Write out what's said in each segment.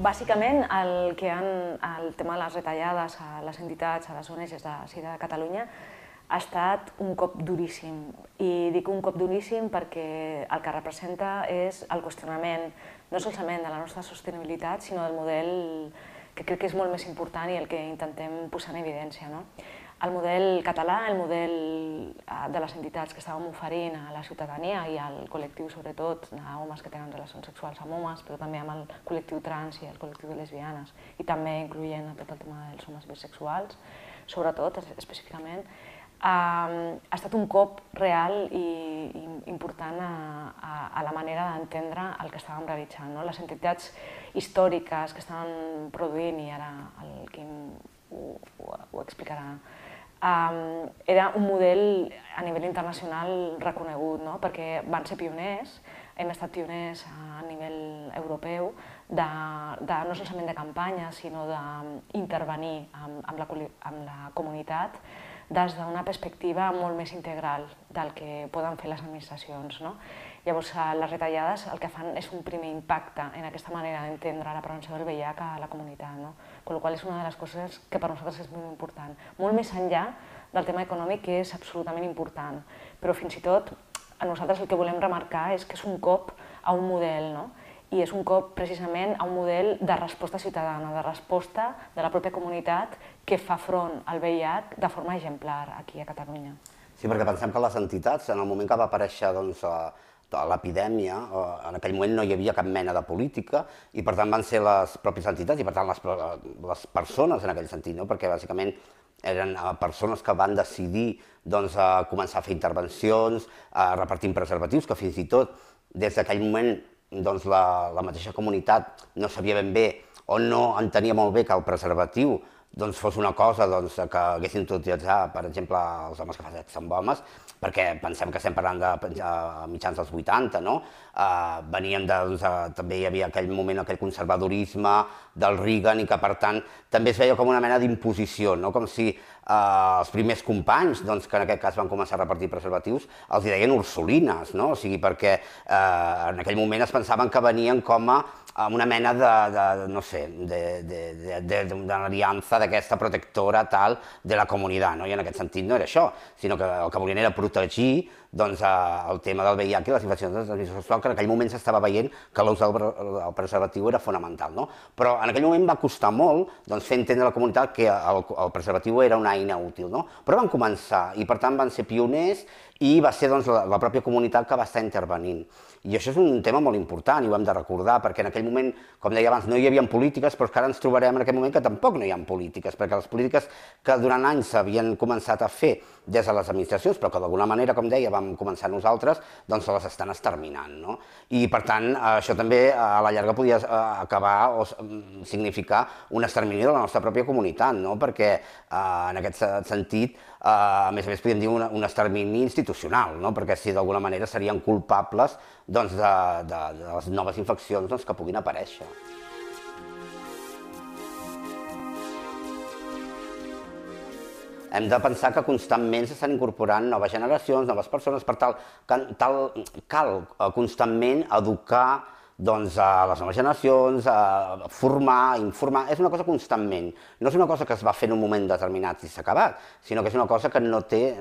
Bàsicament, el tema de les retallades a les entitats, a les ONGs de Catalunya, ha estat un cop duríssim. I dic un cop duríssim perquè el que representa és el qüestionament no solament de la nostra sostenibilitat, sinó del model que crec que és molt més important i el que intentem posar en evidència. El model català, el model de les entitats que estàvem oferint a la ciutadania i al col·lectiu, sobretot, d'homes que tenen relacions sexuals amb homes, però també amb el col·lectiu trans i el col·lectiu de lesbianes, i també incloent tot el tema dels homes bisexuals, sobretot, específicament, ha estat un cop real i important a la manera d'entendre el que estàvem realitzant. Les entitats històriques que estaven produint, i ara el Quim ho explicarà, era un model a nivell internacional reconegut, perquè van ser pioners, hem estat pioners a nivell europeu, no solament de campanya, sinó d'intervenir amb la comunitat des d'una perspectiva molt més integral del que poden fer les administracions. Llavors, les retallades el que fan és un primer impacte en aquesta manera d'entendre la prevenció del VIH a la comunitat, amb la qual cosa és una de les coses que per nosaltres és molt important. Molt més enllà del tema econòmic, que és absolutament important, però fins i tot a nosaltres el que volem remarcar és que és un cop a un model, i és un cop precisament a un model de resposta ciutadana, de resposta de la pròpia comunitat que fa front al VIH de forma exemplar aquí a Catalunya. Sí, perquè pensem que les entitats, en el moment que va aparèixer l'epidèmia, en aquell moment no hi havia cap mena de política i per tant van ser les pròpies entitats i per tant les persones en aquell sentit, perquè bàsicament eren persones que van decidir començar a fer intervencions, repartint preservatius, que fins i tot des d'aquell moment la mateixa comunitat no sabia ben bé o no entenia molt bé que el preservatiu fos una cosa que haguessin d'utilitzar, per exemple, els homes que fan sexe amb homes, perquè pensem que estem parlant de mitjans dels 80, no? Veníem també hi havia aquell moment, aquell conservadorisme del Reagan i que, per tant, també es veia com una mena d'imposició, com si els primers companys, que en aquest cas van començar a repartir preservatius, els deien ursulines, o sigui, perquè en aquell moment es pensaven que venien com a una mena d'aliança d'aquesta protectora tal de la comunitat, i en aquest sentit no era això, sinó que el que volien era protegir el tema del VIH i les infeccions de transmissió sexual, que en aquell moment s'estava veient que l'ús del preservatiu era fonamental. Però en aquell moment va costar molt fer entendre a la comunitat que el preservatiu era una eina útil. Però van començar i per tant van ser pioners i va ser la pròpia comunitat que va estar intervenint. I això és un tema molt important i ho hem de recordar, perquè en aquell moment, com deia abans, no hi havia polítiques, però que ara ens trobarem en aquest moment que tampoc no hi ha polítiques, perquè les polítiques que durant anys s'havien començat a fer des de les administracions, però que d'alguna manera, com deia, vam començar nosaltres, doncs se les estan exterminant. I per tant, això també a la llarga podia acabar o significar un extermini de la nostra pròpia comunitat, perquè en aquest sentit, a més podríem dir un extermini institucional, perquè si d'alguna manera serien culpables de les noves infeccions que puguin aparèixer. Hem de pensar que constantment s'estan incorporant noves generacions, noves persones, per tal cal constantment educar a les noves generacions, formar, informar, és una cosa constantment. No és una cosa que es va fer en un moment determinat i s'ha acabat, sinó que és una cosa que no té,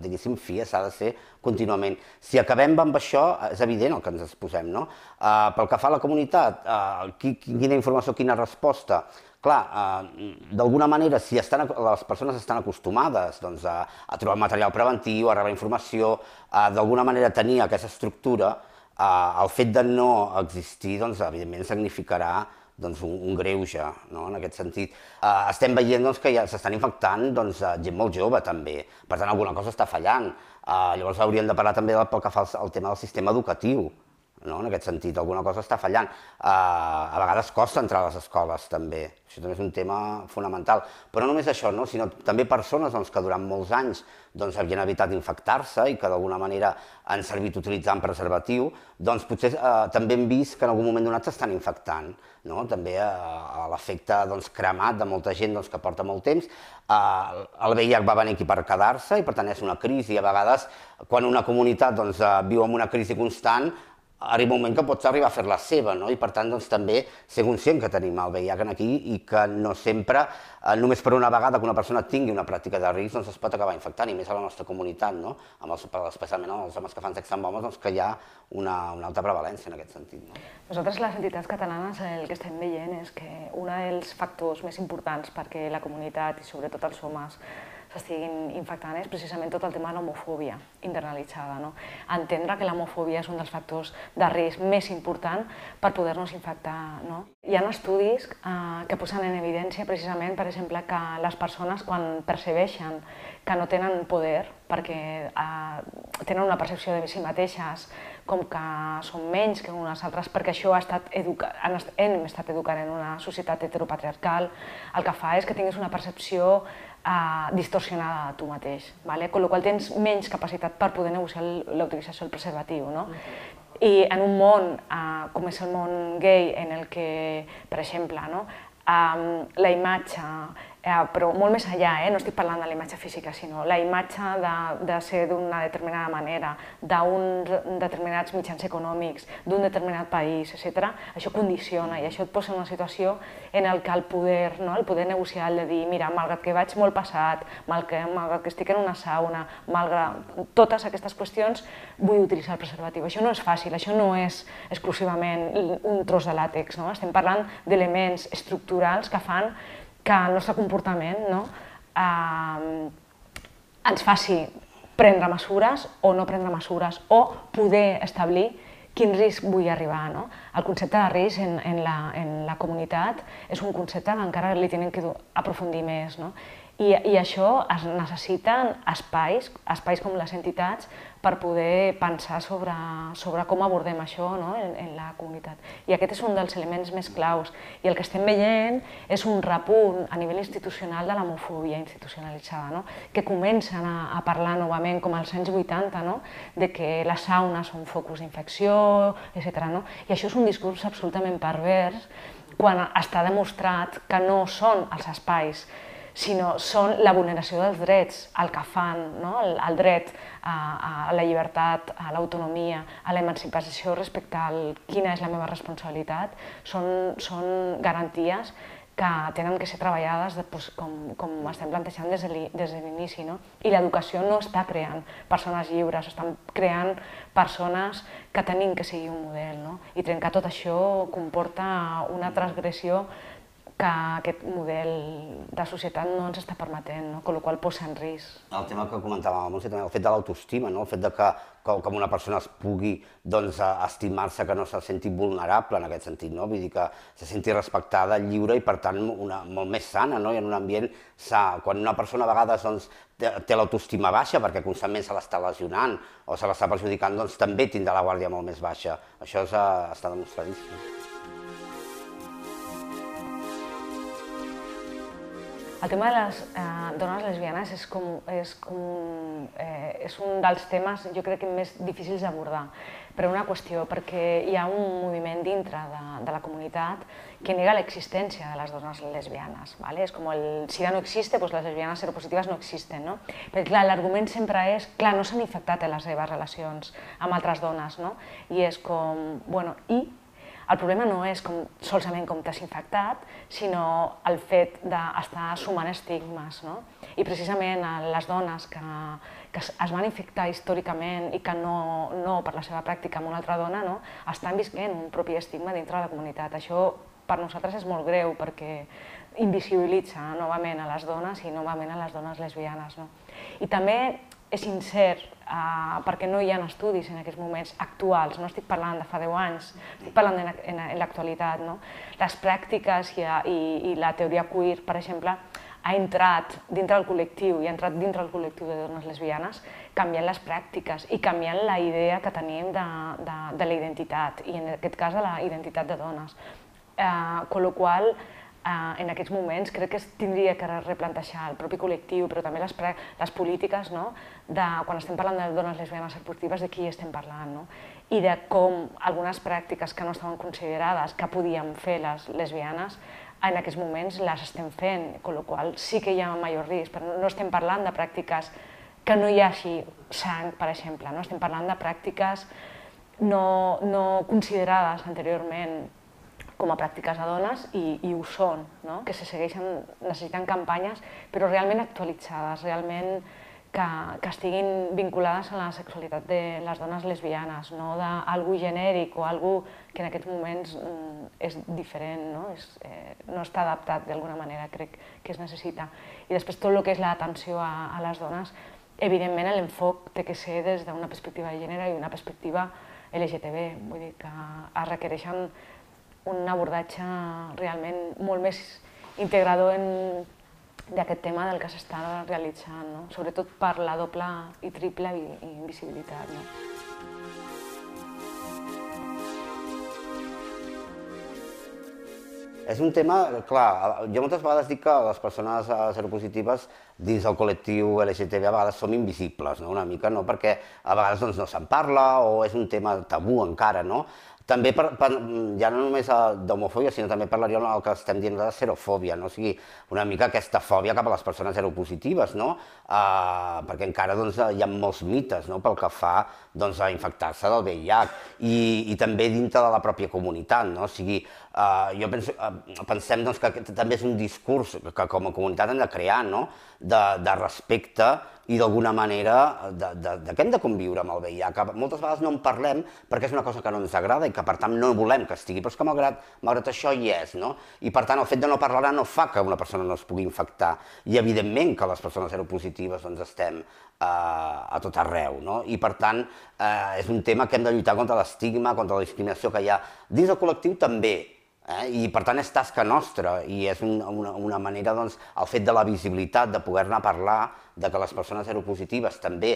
diguéssim, fi, s'ha de ser contínuament. Si acabem amb això, és evident el que ens exposem, no? Pel que fa a la comunitat, quina informació, quina resposta? Clar, d'alguna manera, si les persones estan acostumades a trobar material preventiu, a rebre informació, d'alguna manera tenir aquesta estructura, el fet de no existir, evidentment, significarà un greuge, en aquest sentit. Estem veient que ja s'estan infectant gent molt jove, també. Per tant, alguna cosa està fallant. Llavors, hauríem de parlar també pel que fa al tema del sistema educatiu. En aquest sentit, alguna cosa està fallant. A vegades costa entrar a les escoles, també. Això també és un tema fonamental. Però no només això, sinó també persones que durant molts anys havien evitat infectar-se i que d'alguna manera han servit utilitzant preservatiu, potser també hem vist que en algun moment donat s'estan infectant. També l'efecte cremat de molta gent que porta molt temps. El VIH va venir aquí per quedar-se i per tant és una crisi. A vegades, quan una comunitat viu en una crisi constant, arriba un moment que pots arribar a fer la seva, no? I per tant doncs, també ser conscient que tenim el VIH aquí i que no sempre, només per una vegada que una persona tingui una pràctica de risc, doncs es pot acabar infectant, i més a la nostra comunitat, no? Especialment els homes que fan sexe amb homes, doncs que hi ha una alta prevalència en aquest sentit. No? Nosaltres, les entitats catalanes, el que estem veient és que un dels factors més importants perquè la comunitat i sobretot els homes s'estiguin infectant és precisament tot el tema de l'homofòbia internalitzada. No? Entendre que l'homofòbia és un dels factors de risc més important per poder-nos infectar. No? Hi ha estudis que posen en evidència precisament, per exemple, que les persones quan percebeixen que no tenen poder perquè tenen una percepció de si mateixes com que són menys que unes altres, perquè això hem estat educant en una societat heteropatriarcal, el que fa és que tinguis una percepció distorsionada de tu mateix, con la qual tens menys capacitat per poder negociar la utilització del preservatiu. No? I en un món com és el món gay, en el que, per exemple, no? La imatge, però molt més enllà, no estic parlant de la imatge física, sinó la imatge de ser d'una determinada manera, d'uns determinats mitjans econòmics, d'un determinat país, etc. Això condiciona i això et posa en una situació en què el poder negociar, el de dir, mira, malgrat que vaig molt passat, malgrat que estic en una sauna, malgrat totes aquestes qüestions, vull utilitzar el preservatiu. Això no és fàcil, això no és exclusivament un tros de làtex, no? Estem parlant d'elements estructurals que fan que el nostre comportament ens faci prendre mesures o no prendre mesures o poder establir quin risc vull arribar. No? El concepte de risc en la comunitat és un concepte que encara li tenen que aprofundir més. No? I això es necessiten espais com les entitats per poder pensar sobre com abordem això en la comunitat. I aquest és un dels elements més claus. I el que estem veient és un repunt a nivell institucional de l'homofòbia institucionalitzada, que comencen a parlar novament, com als anys 80, de que les saunes són focus d'infecció, etc. I això és un discurs absolutament pervers quan està demostrat que no són els espais, sinó són la vulneració dels drets, el que fan, el dret a la llibertat, a l'autonomia, a l'emancipació respecte a quina és la meva responsabilitat, són garanties que tenen que ser treballades com estem plantejant des de l'inici. I l'educació no està creant persones lliures, estan creant persones que tenim que seguir un model. I trencar tot això comporta una transgressió que aquest model de societat no ens està permetent, amb la qual cosa posa en risc. El tema que comentàvem, el fet de l'autoestima, el fet que una persona es pugui estimar-se, que no se senti vulnerable en aquest sentit, vull dir que se senti respectada, lliure i per tant molt més sana, i en un ambient sa. Quan una persona a vegades té l'autoestima baixa perquè constantment se l'està lesionant o se l'està perjudicant, doncs també tindrà la guàrdia molt més baixa. Això està demostradíssim. El tema de les dones lesbianes és un dels temes, jo crec, més difícils d'abordar, per una qüestió, perquè hi ha un moviment dintre de la comunitat que nega l'existència de les dones lesbianes. És com el SIDA no existe, doncs les lesbianes seropositives no existen. Perquè clar, l'argument sempre és, clar, no s'han infectat en les seves relacions amb altres dones, i és com, bueno, i? El problema no és solament com t'has infectat, sinó el fet d'estar sumant estigmes. I precisament les dones que es van infectar històricament i que no per la seva pràctica amb una altra dona, estan visquent un propi estigma dintre de la comunitat. Això per nosaltres és molt greu perquè invisibilitza novament a les dones i novament a les dones lesbianes. I també és incert perquè no hi ha estudis en aquests moments actuals, no estic parlant de fa 10 anys, estic parlant en l'actualitat. Les pràctiques i la teoria queer, per exemple, ha entrat dintre del col·lectiu i ha entrat dintre del col·lectiu de dones lesbianes canviant les pràctiques i canviant la idea que tenim de la identitat i en aquest cas de la identitat de dones. Con la qual en aquests moments crec que es tindria que replantejar el propi col·lectiu, però també les polítiques, quan estem parlant de dones lesbianes seropositives, de qui estem parlant, i de com algunes pràctiques que no estaven considerades que podien fer les lesbianes, en aquests moments les estem fent, amb la qual cosa sí que hi ha major risc, però no estem parlant de pràctiques que no hi hagi sang, per exemple, estem parlant de pràctiques no considerades anteriorment com a pràctiques de dones i ho són, no? Que se segueixen, necessiten campanyes, però realment actualitzades, realment que estiguin vinculades a la sexualitat de les dones lesbianes, no d'algú genèric o algú que en aquests moments és diferent, no està adaptat d'alguna manera, crec que es necessita. I després tot el que és l'atenció a les dones, evidentment l'enfoc té que ser des d'una perspectiva de gènere i una perspectiva LGTB, vull dir que es requereixen un abordatge realment molt més integrador d'aquest tema del que s'està realitzant, sobretot per la doble i triple invisibilitat. És un tema, clar, jo moltes vegades dic que les persones seropositives dins del col·lectiu LGTB a vegades som invisibles, una mica, perquè a vegades no se'n parla o és un tema tabú encara, no? També, ja no només d'homofòbia, sinó també parlaríem del que estem dient de serofòbia, o sigui, una mica aquesta fòbia cap a les persones seropositives, perquè encara hi ha molts mites pel que fa a infectar-se del VIH i també dintre de la pròpia comunitat, o sigui, pensem que també és un discurs que com a comunitat hem de crear, de respecte i d'alguna manera que hem de conviure amb el VIH, que moltes vegades no en parlem perquè és una cosa que no ens agrada i que per tant no volem que estigui, però és que malgrat això hi és, i per tant el fet de no parlar no fa que una persona no es pugui infectar i evidentment que les persones seropositives estem a tot arreu, i per tant és un tema que hem de lluitar contra l'estigma, contra la discriminació que hi ha dins del col·lectiu també, i per tant és tasca nostra i és una manera, el fet de la visibilitat, de poder-ne parlar, de que les persones seropositives també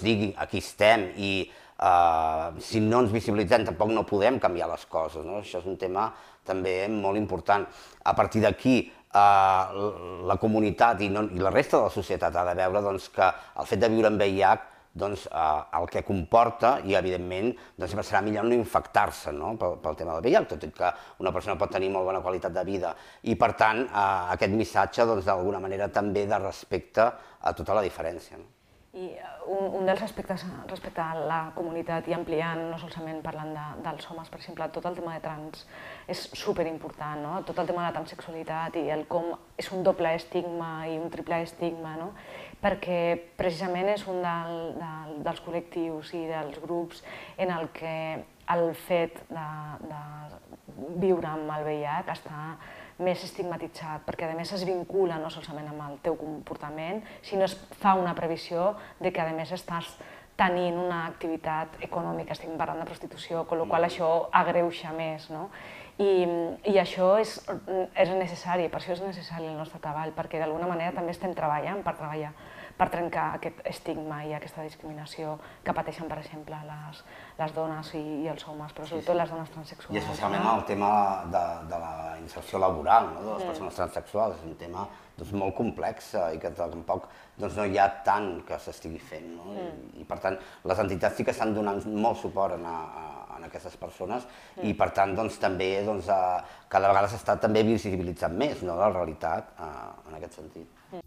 diguin aquí estem i si no ens visibilitzem tampoc no podem canviar les coses, això és un tema també molt important. A partir d'aquí la comunitat i la resta de la societat ha de veure que el fet de viure amb VIH el que comporta i evidentment sempre serà millor no infectar-se pel tema del VIH, tot i que una persona pot tenir molt bona qualitat de vida i per tant aquest missatge d'alguna manera també de respecte a tota la diferència. I un dels aspectes respecte a la comunitat i ampliant, no solament parlant dels homes, per exemple, tot el tema de trans és superimportant, tot el tema de la transsexualitat i el com és un doble estigma i un triple estigma, perquè precisament és un dels col·lectius i dels grups en el que el fet de viure amb el VIH està més estigmatitzat, perquè a més es vincula no solament amb el teu comportament, sinó es fa una previsió de que a més estàs tenint una activitat econòmica, estem parlant de prostitució, amb la qual cosa això agreuja més. I això és necessari, per això és necessari el nostre treball, perquè d'alguna manera també estem treballant per trencar aquest estigma i aquesta discriminació que pateixen, per exemple, les dones i els homes, però sobretot les dones transsexuals. I especialment el tema de la inserció laboral de les persones transsexuals, és un tema molt complex i que tampoc no hi ha tant que s'estigui fent. I per tant, les entitats sí que estan donant molt suport a aquestes persones i per tant també cada vegada s'està també visibilitzant més la realitat en aquest sentit.